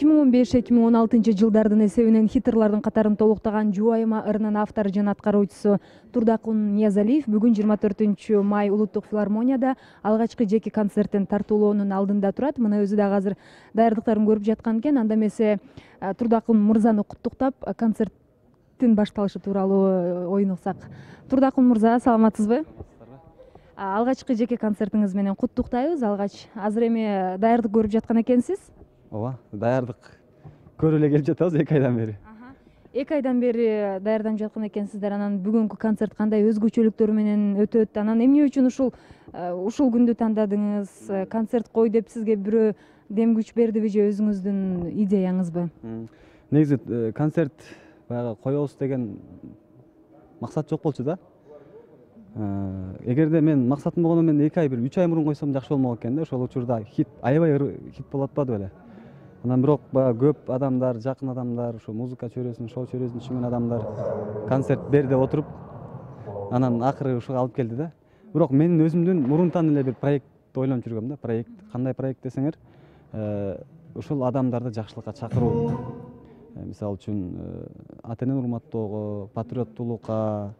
2015-2016 жылдардын эсебинен хиттерлардын катарын толуктаган Жубайыма ырынын автору жана аткаруучусу Турдакун Ниязалиев бүгүн 24 май улуттук филармонияда алгачкы жеке концертин тартуулоонун алдында турат. Мына өзү дагы азыр даярдыктарын көрүп жаткан экен. Анда эмесе Турдакун мырзаны куттуктап концерттин башталышы тууралуу оюнуксак. Турдакун мырза, саламатсызбы? Алгачкы жеке концертиңиз менен куттуктайбыз. Алгач азыр эми даярдык көрүп жаткан экенсиз. Ооба, даярдык көрүп эле келип жатабыз 2 айдан бери. 2 айдан бери даярданып жаткан экенсиздер. Анан бүгүнкү концерт кандай өзгөчөлүктөр менен өтөт? Анан эмне үчүн ушул күндү тандадыңыз? Концерт кой деп сизге бирөө дем күч бердиби же өзүңүздүн идеяңызбы? Негизи концерт баягы коебуз деген максат жок болчу да. Эгерде мен максатым болгондо мен 2 ай, 3 ай мурун койсом жакшы болмок экен да. Ошол учурда хит аябай хит болуп атпады беле. Анан бирок баягы көп адамдар, жакын адамдар, ушу музыка чөйрөсүн, шоу чөйрөсүн түшүнгөн адамдар концерт бер деп отуруп, анан акыры ушуга алып келди да. Бирок менин өзүмдүн мурунтан эле бир проект ойлонуп жүргөм да. Проект, кандай проект десеңер, ушул адамдарды жакшылыкка чакыруу. Мисалы үчүн ата энени урматтоого, патриоттуулукка,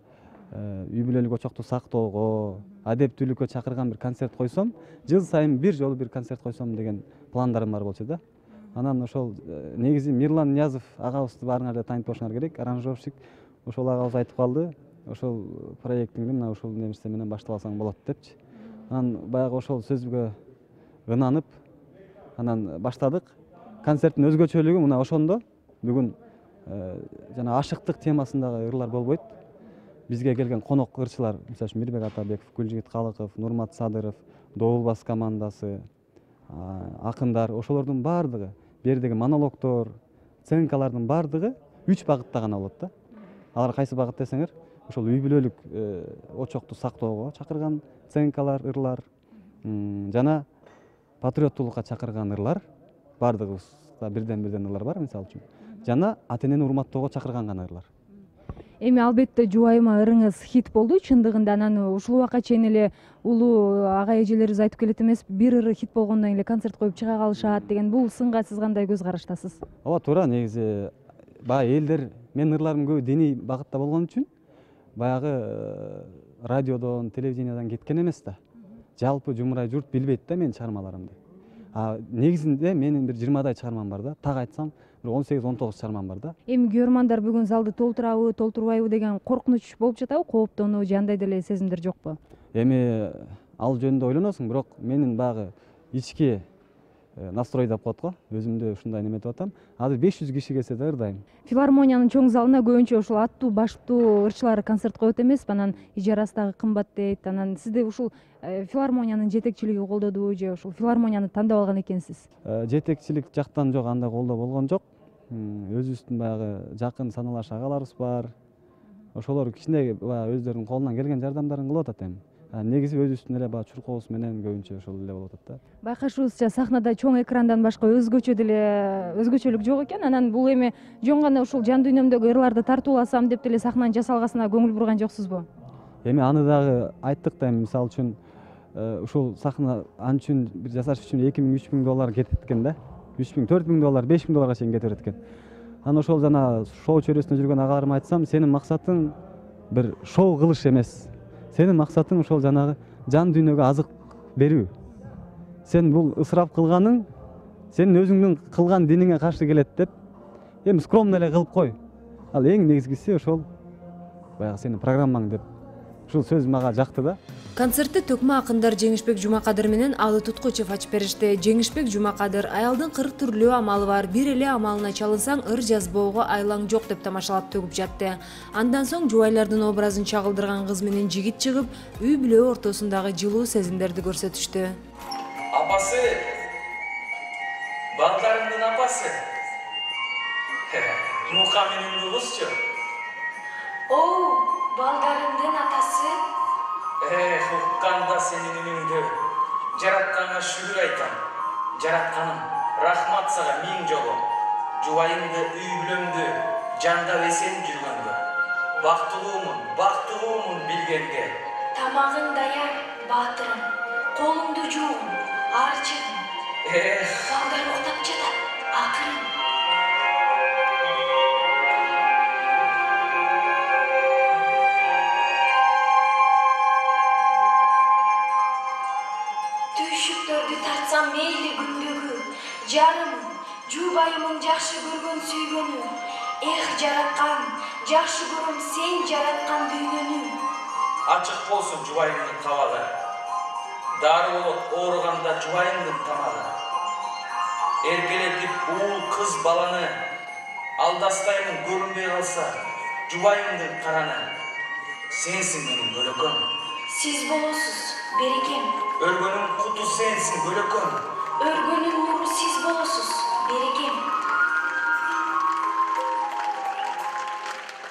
үй бүлөлүк очокту сактоого, адептүүлүккө чакырган бир концерт койсом, жыл сайын бир жолу бир концерт койсом деген пландарым бар болчу да. Анан ошол негизи Мирлан Ниязов агабызды баарыңар да таанып болушуңар керек, аранжировщик. Ошол агабыз айтып калды, ошол проектиңди мына ушул нерсе менен башталсаң болот депчи. Анан баягы ошол сөзгө ынанып, анан баштадык. Концерттин өзгөчөлүгү мына ошондо. Бүгүн жана ашыктык темасындагы ырлар болбойт. Бизге келген конок ырчылар, мисалы үчүн Мирбек Атабеков, Гүлжигит Калыков, Нурмат Садыров, Добулбас командасы, акындар, ошолордун баардыгы, бердеги монологдор, сценкалардын баардыгы 3 багытта гана болот да. Алар кайсы багыт десеңер, ошол үй бүлөлүк очокту сактоого чакырган сценкалар, ырлар, жана патриоттуулукка чакырган ырлар, баардыгыбызда бирден ырлар бар, мисалы үчүн. Жана ата энени урматтоого чакырган гана ырлар. Эми албетте Жубайыма ырыңыз хит болду чындыгында. Анан ушул убакка чейин эле улуу ага эжелерибиз айтып келет эмес, бир ыры хит болгондон эле концерт коюп чыга калышат деген. Бул сынга сиз кандай көз караштасыз? Ооба, туура. Негизи баягы элдер, менин ырларым көбү диний багытта болгон үчүн баягы радиодон, телевидениядан кеткен эмес да. Жалпы жумурай журт билбейт да менин чыгармаларымды. Негизинде менин бир 20дай чыгармам бар да. Так айтсам, 18-19 чыгармам бар да. Эми көрөрмандар бүгүн залды толтурабы, толтурбайбы деген коркунуч болуп жатабы, кооптонуу же андай деле сезимдер жокпу? Эми ал жөнүндө ойлоносуң, бирок менин баягы ички настрой деп коет го, өзүмдү ушундай неметип атам. Азыр 500 киши келсе да ырдайм. Филармониянын чоң залына көбүнчө ушул аттуу, баштуу ырчылар концерт коет эмеспи? Анан ижарасы дагы кымбат дейт. Анан сизди ушул филармониянын жетекчилиги колдодубу же ушул филармонияны тандап алган экенсиз? Жетекчилик жактан жок, андай колдоо болгон жок. Өзүбүздүн баягы жакын саналаш агаларыбыз бар. Ошолор кичине баягы өздөрүнүн колунан келген жардамдарын кылып атат эми. Негизи өзүбүздүн эле баягы чуркообуз менен көбүнчө ошол эле болуп атат да. Байкашыбызча сахнада чоң экрандан башка өзгөчөлүк жок экен. Анан бул эми жөн гана ушул жан дүйнөмдөгү ырларды тартууласам деп деле сахнанын жасалгасына көңүл бурган жоксузбу? Эми аны дагы айттык да, эми мисалы үчүн ушул сахна ан үчүн бир жасаш үчүн $2000–3000 кетет экен да. $3000–4000, $5000 чейин кете берет экен. Анан ошол жана шоу чөйрөсүндө жүргөн агаларыма айтсам, сенин максатың бир шоу кылыш эмес. Сенин максатың ошол жанагы жан дүйнөгө азык берүү. Сен бул ысырап кылганың сенин өзүңдүн кылган диниңе каршы келет деп, эми скромно эле кылып кой. Ал эң негизгиси ошол баягы сенин программаң деп. Ушул сөз мага жакты да. Концертти төкмө акындар Жеңишбек Жумакадыр менен Алы Туткучев ачып беришти. Жеңишбек Жумакадыр аялдын 40 түрлүү амалы бар, бир эле амалына чалынсаң ыр жазбоого айлаң жок деп тамашалап төгүп жатты. Андан соң жубайлардын образын чагылдырган кыз менен жигит чыгып, үй бүлө ортосундагы жылуу сезимдерди көрсөтүштү. Апасы, балдарымдын апасы. Мука менен кызчы. Балдарымдын атасы. Укканда сенин үнүңдү. Жаратканга шүгүр айтам. Жаратканым, рахмат сага миң жолу. Жубайымды, үй бүлөмдү жандап эсен жүргөнгө. Бактылуумун билгенге. Тамагың даяр, баатырым. Колуңду жуугун, арчыгын. Балдар уктап жатат, акырын. күчтөрдү тартсам мейли күндөгү, жарым, жубайымын жакшы көргөн сүйгөнү. Эх жараткан, жакшы көрөм сен жараткан дүйнөнү. Ачык болсун жубайымдын кабагы. Дары болот ооруганда жубайымдын тамагы. Эркелетип уул кыз баланы, алдастаймын көрүнбөй калса жубайымдын караны. Сенсиң менин бөлөкөм. Сиз болосуз, берекем. Өргөнүн куту сенсиң бөлөкөм. Өргөнүн нуру сиз болосуз, берекем.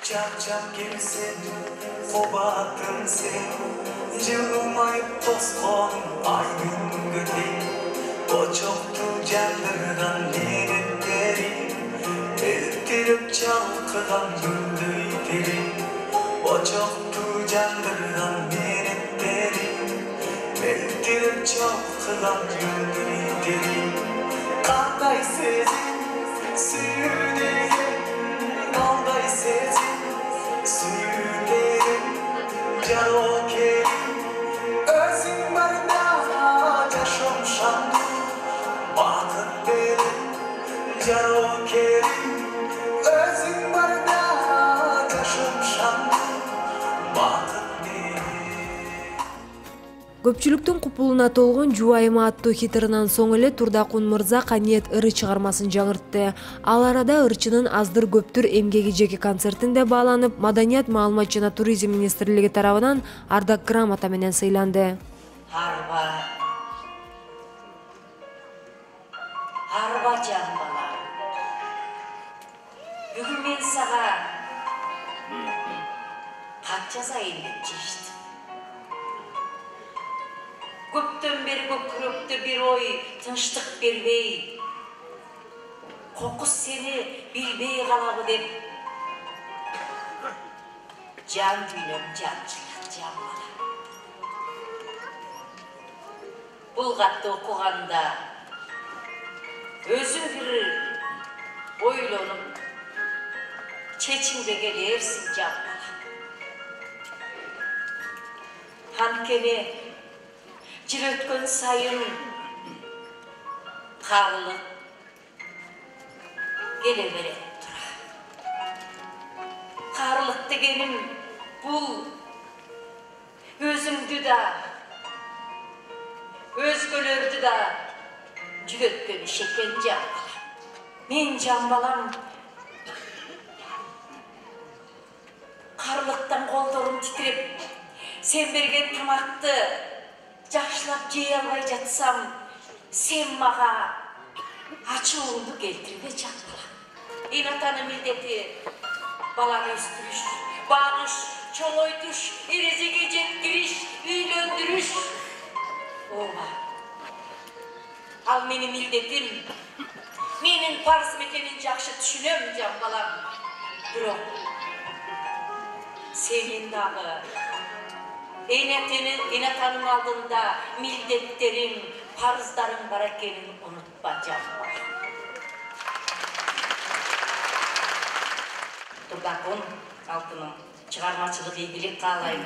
Чап-чап келсең, кубатым сен, жылмайып тосконым ай күнгө тең. Очокту жандырган менеттериң, элтирип чалкыган гүлдөй терең. Очокту жандырган менеттериң, элтирип чалкыган гүлдөй терең. Кандай сезим сүйүүдөгү, кандай сезим сүйүүдөгү, жарокерим, өзүң барда жашоом шаңды, бакыт берип, жарокерим, өзүң барда жашоом шаңды, бакыт берип. Көпчүлүктүн купулуна толгон Жубайыма аттуу хитырынан соң эле Турдакун мырза Каниет ыры чыгармасын жаңыртты. Ал арада ырчынын аздыр көптүр эмгеги жеке концертинде бааланып, Маданият, маалымат жана туризм министрлиги тарабынан ардак грамота менен сыйланды. Арба жан бала. Бүгүн мен сага кат жазайын деп чечтим. Көптөн бери көкүрөктө бир ой тынчтык бербей, кокус сени билбей калабы деп жан дүйнөм жанчылат жан бала. Бул катты окуганда өзүң бир ойлонуп чечимге келерсиң жан бала. Анткени жыл өткөн сайын кабылып келе берет тура. Каарылык дегеним бул өзүңдү да, өзгөлөрдү да жүгөткөн иш экен жан бала. Мен жан балам каарылыктан колдорум титиреп, сен берген тамакты жакшылап жей албай жатсам, сен мага ачууңду келтирбе жан бала. Эн атанын милдети баланы өстүрүш, багыш, чоңойтуш, эрежеге жеткириш, үйлөндүрүш. Ооба. Ал менин милдетим, менин парызым экенин жакшы түшүнөм жан балам. Бирок сенин дагы эн атанын алдында милдеттериң, парыздарың бар экенин унутпа жан бала. Турдакун алтыным чыгармачылык ийгилик каалайм.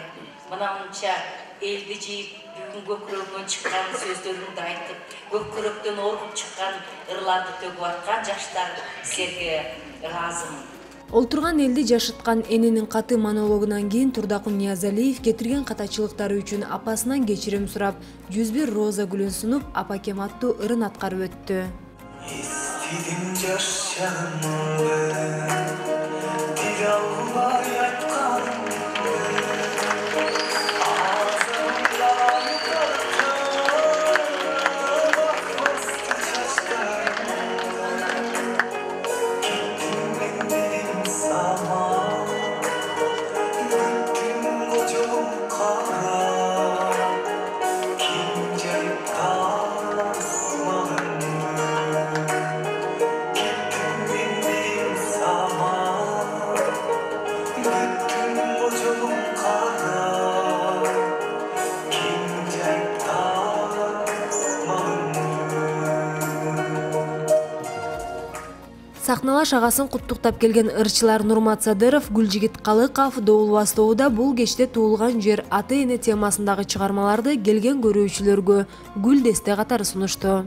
Мына унча элди жийип, бүгүн көкүрөгүмөн чыккан сөздөрүңдү айтып, көкүрөктөн оргуп чыккан ырларды төгүп аткан жаштар силерге ыраазымын. Олтурган элди жашыткан эненин каты монологунан кийин Турдакун Ниязалиев кетирген катачылыктары үчүн апасынан кечирим сурап, 101 роза гүлүн сунуп, апакем аттуу ырын аткарып өттү. Естидим жаш шагымды, тил албай айтканымды, азымдан тартып акбасты чачтарымды. Кеттим мен дедим сага, бүттүм кожогум кара, ким жайып тасмагымды. Кеттим мен дедим сага, сахналаш агасын куттуктап келген ырчылар Нурмат Садыров, Гүлжигит Калыков, Доул Бастоуда бул кечте туулган жер, ата-эне темасындагы чыгармаларды келген көрүүчүлөргө гүл десте катары сунушту.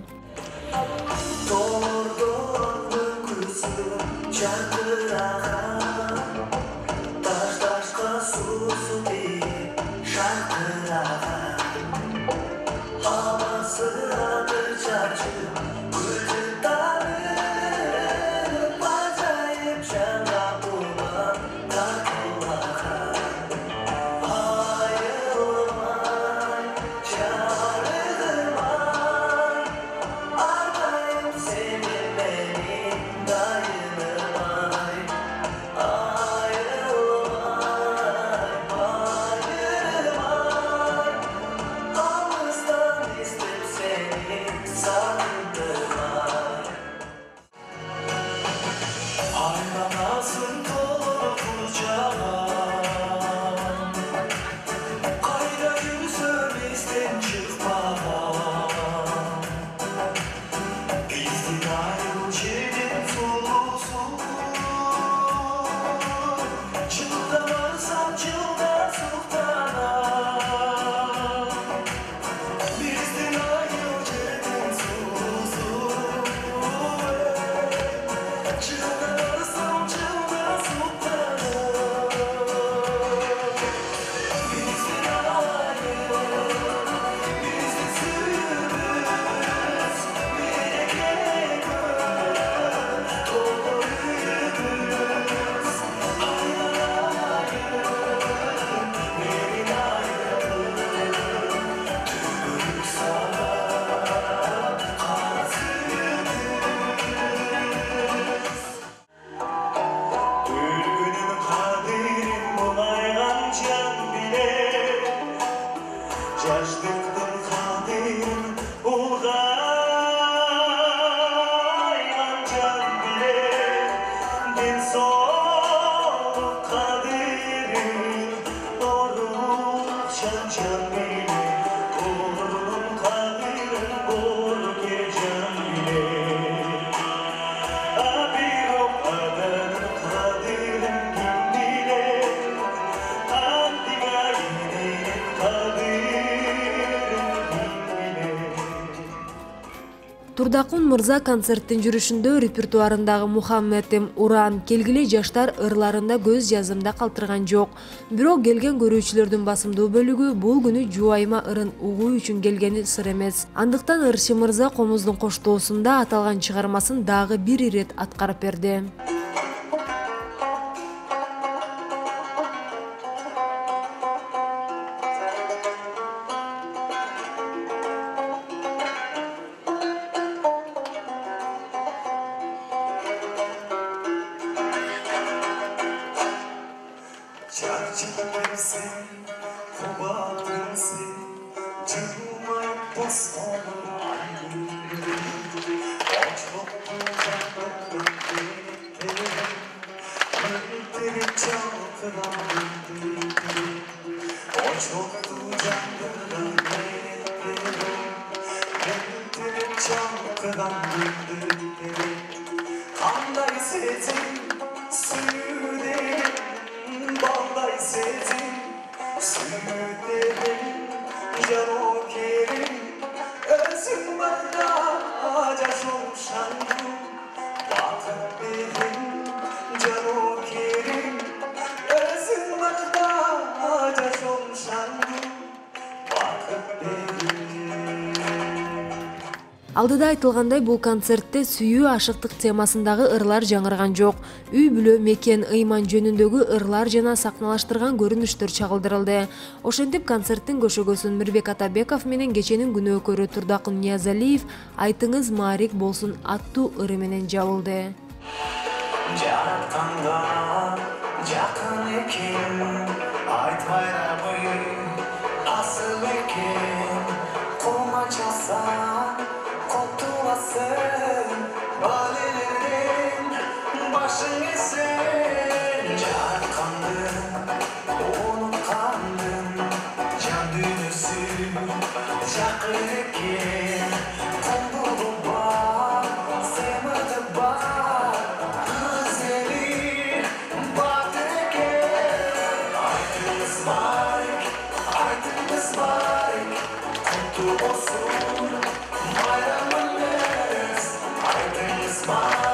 Турдакун мырза концерттин жүрүшүндө репертуарындагы Мухаммедим Уран келгиле жаштар ырларында көз жазымда калтырган жок. Бирок келген көрүүчүлөрдүн басымдуу бөлүгү бул күнү Жубайыма ырын угуу үчүн келгени сыр эмес. Андыктан ырчы мырза комуздун коштоосунда аталган чыгармасын дагы бир ирет аткарып берди. Алдыда айтылгандай, бул концертте сүйүү ашыктык темасындагы ырлар жаңырган жок. Үй бүлө, мекен, ыйман жөнүндөгү ырлар жана сахналаштырган көрүнүштөр чагылдырылды. Ошентип концерттин көшөгөсүн Мирбек Атабеков менен кеченин күнөөкөрү Турдакун Ниязалиев «Айтыңыз маарик болсун» аттуу ыры менен жабылды. Жаратканга жакын экен, айтпайрабы асыл экен, комачаса балелерден башың эсен, жараткандын унуткандын жан дүйнөсү жакын экен, кулдугу бар, семиди бар, Smile.